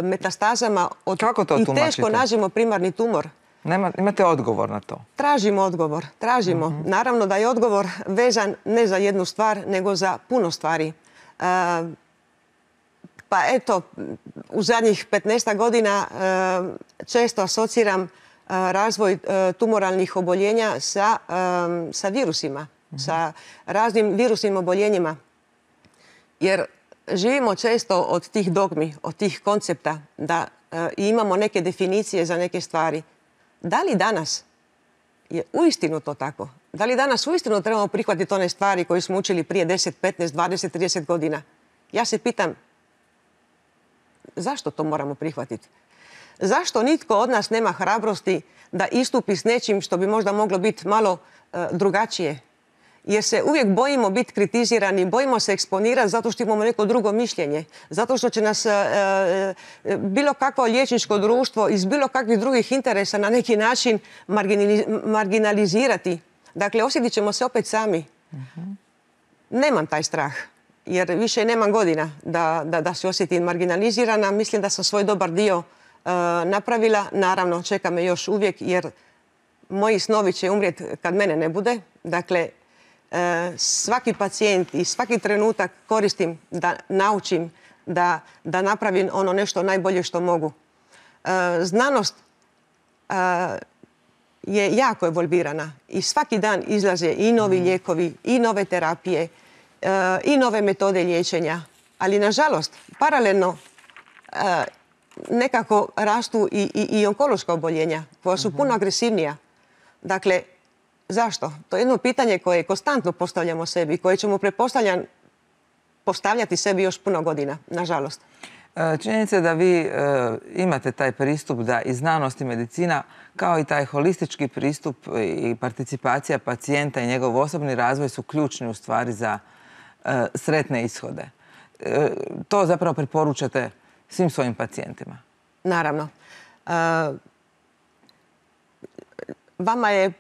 metastazama od... Kako to tumačite? I teško nađemo primarni tumor. Nema, imate odgovor na to? Tražimo odgovor. Tražimo. Uh-huh. Naravno da je odgovor vezan ne za jednu stvar, nego za puno stvari. Uh, pa eto, u zadnjih petnaest godina uh, često asociram uh, razvoj uh, tumoralnih oboljenja sa, um, sa virusima, uh-huh. sa raznim virusnim oboljenjima. Jer živimo često od tih dogmi, od tih koncepta, da uh, imamo neke definicije za neke stvari. Da li danas je uistinu to tako? Da li danas uistinu trebamo prihvatiti one stvari koje smo učili prije deset, petnaest, dvadeset, trideset godina? Ja se pitam, zašto to moramo prihvatiti? Zašto nitko od nas nema hrabrosti da istupi s nečim što bi možda moglo biti malo uh, drugačije? Jer se uvijek bojimo biti kritizirani, bojimo se eksponirati zato što imamo neko drugo mišljenje. Zato što će nas e, e, bilo kakvo liječničko društvo iz bilo kakvih drugih interesa na neki način marginalizirati. Dakle, osjetit ćemo se opet sami. Uh-huh. Nemam taj strah, jer više nemam godina da, da, da se osjetim marginalizirana. Mislim da sam svoj dobar dio e, napravila. Naravno, čeka me još uvijek, jer moji snovi će umrijeti kad mene ne bude. Dakle, svaki pacijent i svaki trenutak koristim da naučim, da, da napravim ono nešto najbolje što mogu. Znanost je jako evolvirana i svaki dan izlaze i novi lijekovi, i nove terapije, i nove metode liječenja. Ali, nažalost, paralelno nekako rastu i, i, i onkološka oboljenja koja su puno agresivnija. Dakle, zašto? To je jedno pitanje koje konstantno postavljamo sebi, koje ćemo pretpostavljam postavljati sebi još puno godina, nažalost. Činjenica je da vi imate taj pristup da i znanost i medicina, kao i taj holistički pristup i participacija pacijenta i njegov osobni razvoj su ključni u stvari za sretne ishode. To zapravo preporučate svim svojim pacijentima. Naravno. Vama je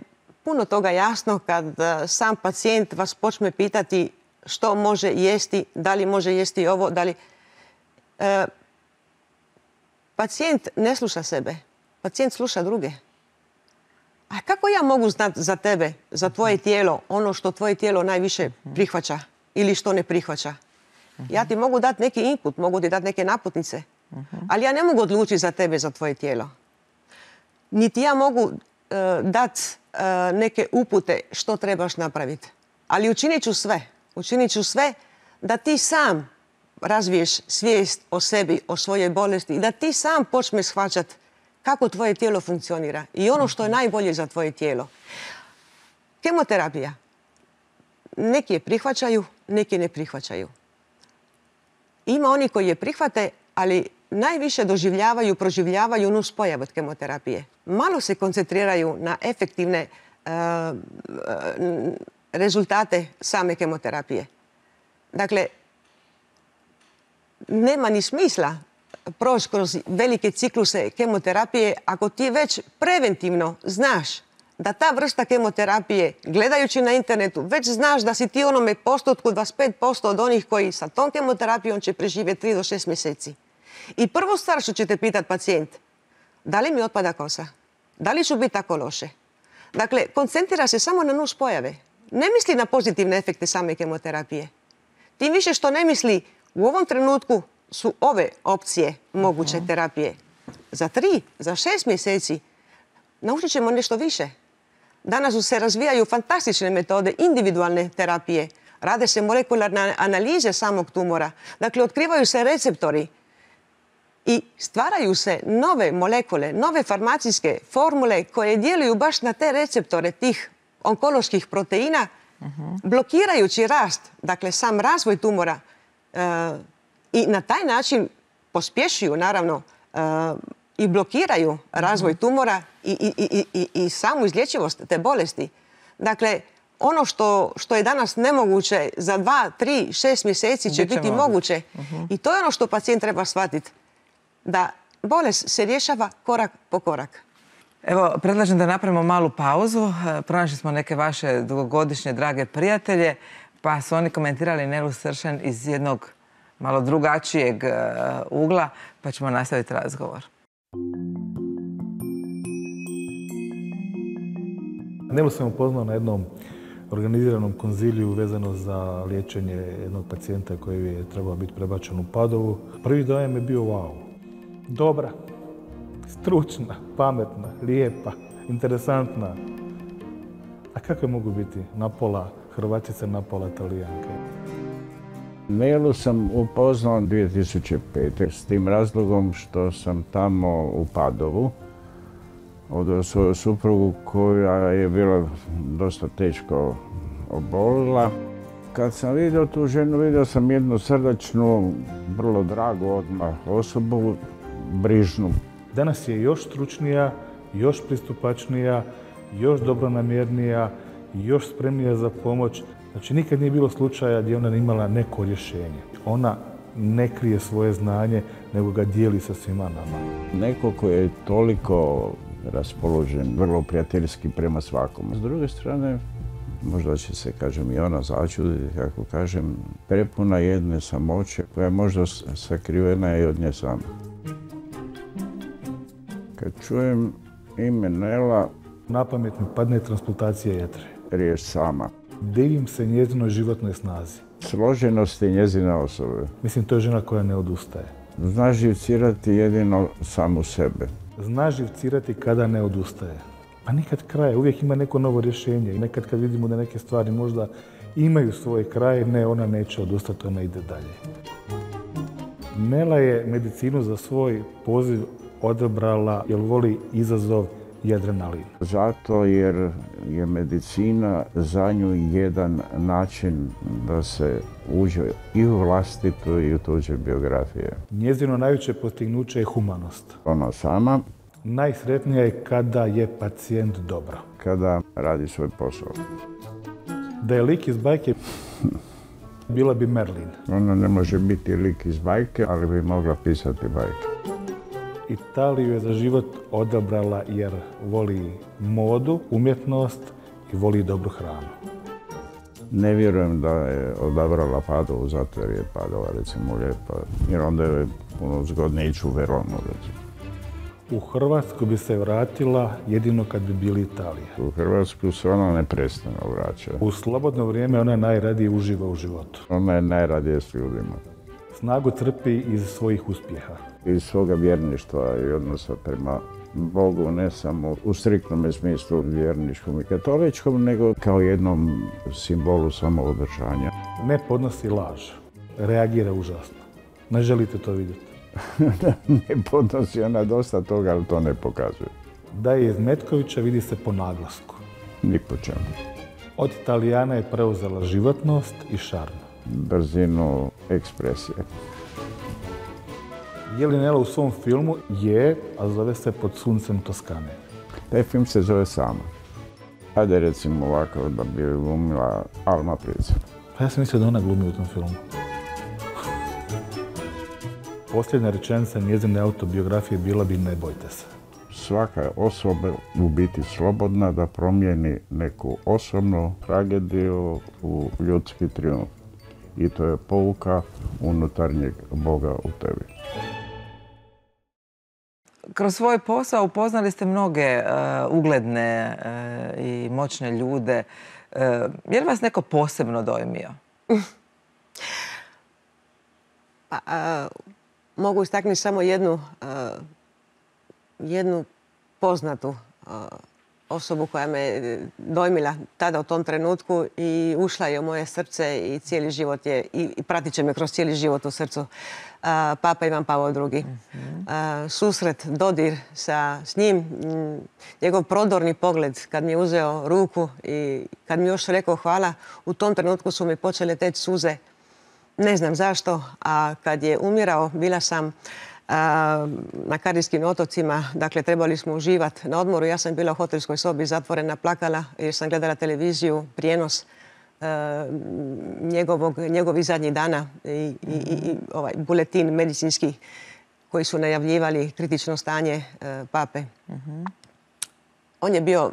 puno toga jasno kad sam pacijent vas počne pitati što može jesti, da li može jesti ovo, da li... E, pacijent ne sluša sebe, pacijent sluša druge. A kako ja mogu znati za tebe, za tvoje tijelo, ono što tvoje tijelo najviše prihvaća ili što ne prihvaća? Ja ti mogu dati neki input, mogu ti dati neke naputnice, ali ja ne mogu odlučiti za tebe, za tvoje tijelo. Niti ja mogu e, dati e, neke upute što trebaš napraviti. Ali učinit ću sve, učinit ću sve da ti sam razviješ svijest o sebi, o svojoj bolesti i da ti sam počneš shvaćati kako tvoje tijelo funkcionira i ono što je najbolje za tvoje tijelo. Kemoterapija. Neki je prihvaćaju, neki ne prihvaćaju. Ima oni koji je prihvate, ali najviše doživljavaju, proživljavaju nuspojave od kemoterapije. Malo se koncentriraju na efektivne uh, uh, rezultate same kemoterapije. Dakle, nema ni smisla proći kroz velike cikluse kemoterapije ako ti već preventivno znaš da ta vrsta kemoterapije, gledajući na internetu, već znaš da si ti onome postotku dvadeset pet posto od onih koji sa tom kemoterapijom će preživjeti tri do šest mjeseci. I prvo stvar što će te pitati pacijent, da li mi otpada kosa? Da li ću biti tako loše? Dakle, koncentrira se samo na nuspojave. Ne misli na pozitivne efekte same kemoterapije. Tim više što ne misli u ovom trenutku su ove opcije moguće terapije. Za tri, za šest mjeseci naučit ćemo nešto više. Danas se razvijaju fantastične metode individualne terapije. Rade se molekularne analize samog tumora. Dakle, otkrivaju se receptori i stvaraju se nove molekule, nove farmacijske formule koje djeluju baš na te receptore tih onkoloških proteina, blokirajući rast, dakle sam razvoj tumora, i na taj način pospješuju, naravno, i blokiraju razvoj tumora i, i, i, i, i samu izlječivost te bolesti. Dakle, ono što, što je danas nemoguće za dva, tri, šest mjeseci će biti moguće. Uh-huh. I to je ono što pacijent treba shvatiti. Da bolest se rješava korak po korak. Evo, predlažem da napravimo malu pauzu. Pronašli smo neke vaše dugogodišnje drage prijatelje, pa su oni komentirali Nelu Sršen iz jednog malo drugačijeg ugla, pa ćemo nastaviti razgovor. Nelu sam upoznao na jednom organiziranom konziliju vezano za liječenje jednog pacijenta koji je trebao biti prebačen u Padovu. Prvi dojam je bio wow. Dobra, stručna, pametna, lijepa, interesantna. A kako mogu biti napola Hrvatica, napola Talijanka? Nelu sam upoznao dvije tisuće pete s tim razlogom što sam tamo u Padovu od svoju suprugu koja je bila dosta teško obolila. Kad sam vidio tu ženu, vidio sam jednu srdačnu, vrlo dragu odmah osobu, brižnu. Danas je još stručnija, još pristupačnija, još dobronamjernija, još spremnija za pomoć. Znači, nikad nije bilo slučaja gdje ona nije imala neko rješenje. Ona ne krije svoje znanje, nego ga dijeli sa svima nama. Neko koji je toliko raspoložen, vrlo prijateljski prema svakom. S druge strane, možda će se, kažem, i ona začuditi, kako kažem, prepuna jedne samoće koja je možda sakrivena i od nje sama. Kad čujem ime Nela, na pamet mi padne transplantacija jetre. Riječ sama. Divim se njezinoj životnoj snazi. Složenosti njezine osobe. Mislim, to je žena koja ne odustaje. Zna živcirati jedino samu sebe. Zna živcirati kada ne odustaje. Pa nikad kraja, uvijek ima neko novo rješenje. Nekad kad vidimo da neke stvari možda imaju svoj kraj, ne, ona neće odustati, ona ide dalje. Nela je medicinu za svoj poziv odabrala jer voli izazov i adrenalin. Zato jer je medicina za nju jedan način da se uđe i u vlastitu i u tuđe biografije. Njezino najveće postignuće je humanost. Ona sama. Najsretnija je kada je pacijent dobro. Kada radi svoj posao. Da je lik iz bajke, bila bi Merlin. Ona ne može biti lik iz bajke, ali bi mogla pisati bajke. Italiju je za život odabrala jer voli modu, umjetnost i voli dobru hranu. Ne vjerujem da je odabrala Padovu zato jer je Padova recimo lijepa, jer onda je puno zgodnije ići u Veronu recimo. U Hrvatsku bi se vratila jedino kad bi bili Italija. U Hrvatsku se ona neprestano vraća. U slobodno vrijeme ona najradije uživa u životu. Ona je najradije s ljudima. Snagu crpi iz svojih uspjeha. Iz svoga vjerništva i odnosa prema Bogu, ne samo u striktnom smislu vjerničkom i katoličkom, nego kao jednom simbolu samoodržanja. Ne podnosi laž. Reagira užasno. Ne želite to vidjeti. Ne podnosi ona dosta toga, ali to ne pokazuje. Da je iz Metkovića vidi se po naglasku. Ni po čemu. Od Italijana je preuzela životnost i šarm. Brzinu ekspresije. Je li Nela u svom filmu? Je, a zove se Pod suncem Toskane. Taj film se zove Sama. Ajde recimo ovako da bi glumila Alma Prica. Pa ja sam mislio da ona glumi u tom filmu. Posljednja rečenica njezine autobiografije bila bi ne bojte se. Svaka je osoba u biti slobodna da promijeni neku osobnu tragediju u ljudski trijumf. I to je pouka unutarnjeg Boga u tebi. Kroz svoj posao upoznali ste mnoge uh, ugledne uh, i moćne ljude. Uh, je li vas neko posebno dojmio? Pa, uh, mogu istaknuti samo jednu, uh, jednu poznatu uh, osobu koja me dojmila tada u tom trenutku i ušla je u moje srce i cijeli život je, i, i pratit će me kroz cijeli život u srcu. Uh, Papa Ivan Pavao drugi. Mm-hmm. Uh, susret, dodir sa, s njim, m, njegov prodorni pogled kad mi je uzeo ruku i kad mi još rekao hvala, u tom trenutku su mi počele teći suze. Ne znam zašto, a kad je umirao, bila sam na Karijskim otocima, dakle trebali smo uživati na odmoru. Ja sam bila u hotelskoj sobi zatvorena, plakala jer sam gledala televiziju, prijenos uh, njegovog, njegovih zadnjih dana i, i, i ovaj buletin medicinski koji su najavljivali kritično stanje uh, pape. Uh-huh. On je bio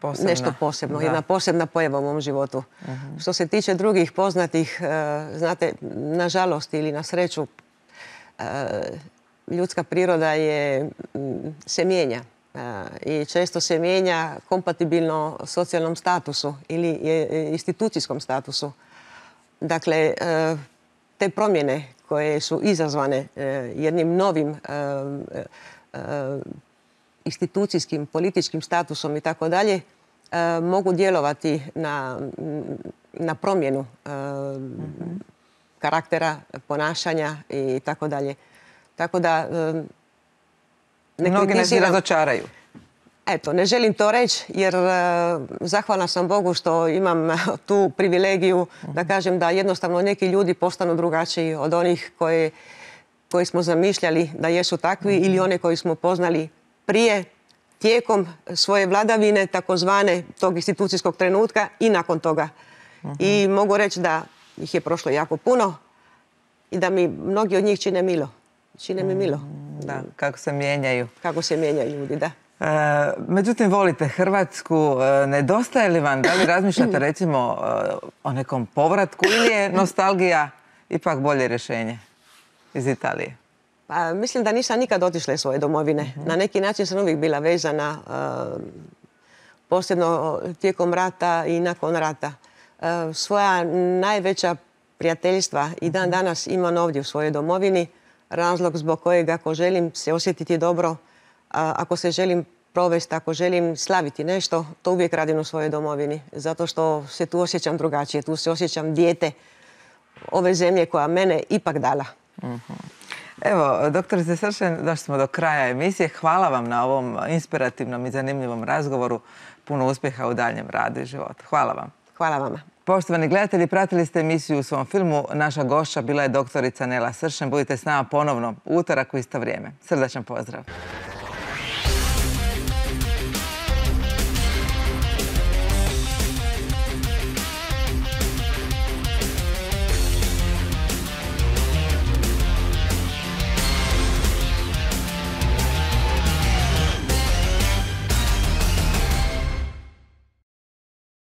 posebna. Nešto posebno, da. Jedna posebna pojava u mom životu. Uh-huh. Što se tiče drugih poznatih, uh, znate, nažalost ili na sreću, ljudska priroda je, se mijenja i često se mijenja kompatibilno socijalnom statusu ili institucijskom statusu. Dakle, te promjene koje su izazvane jednim novim institucijskim, političkim statusom i tako dalje, mogu djelovati na, na promjenu mm-hmm. karaktera, ponašanja i tako dalje. Tako da ne mnogi nas i razočaraju. Eto, ne želim to reći jer uh, zahvalna sam Bogu što imam tu privilegiju uh-huh. da kažem da jednostavno neki ljudi postanu drugačiji od onih koje, koje smo zamišljali da jesu takvi uh-huh. ili one koji smo poznali prije, tijekom svoje vladavine, takozvane tog institucijskog trenutka i nakon toga. Uh-huh. I mogu reći da ih je prošlo jako puno i da mi mnogi od njih čine milo. Čine mi milo. Da, kako se mijenjaju. Kako se mijenjaju ljudi, da. E, međutim, volite Hrvatsku. E, nedostaje li vam, da li razmišljate recimo e, o nekom povratku ili je nostalgija ipak bolje rješenje iz Italije? Pa, mislim da nisam nikad otišla iz svoje domovine. Uh-huh. Na neki način sam uvijek bila vezana, uh, posebno tijekom rata i nakon rata. Uh, svoja najveća prijateljstva i dan danas imam ovdje u svojoj domovini. Razlog zbog kojeg ako želim se osjetiti dobro, a, ako se želim provesti, ako želim slaviti nešto, to uvijek radim u svojoj domovini. Zato što se tu osjećam drugačije, tu se osjećam dijete ove zemlje koja mene ipak dala. Uh-huh. Evo, doktorice Sršen, došli smo do kraja emisije. Hvala vam na ovom inspirativnom i zanimljivom razgovoru. Puno uspjeha u daljem radu i životu. Hvala vam. Hvala vama. Poštovani gledatelji, pratili ste emisiju u svom filmu. Naša gošća bila je doktorica Nela Sršen. Budite s nama ponovno u utorak u isto vrijeme. Srdačan pozdrav.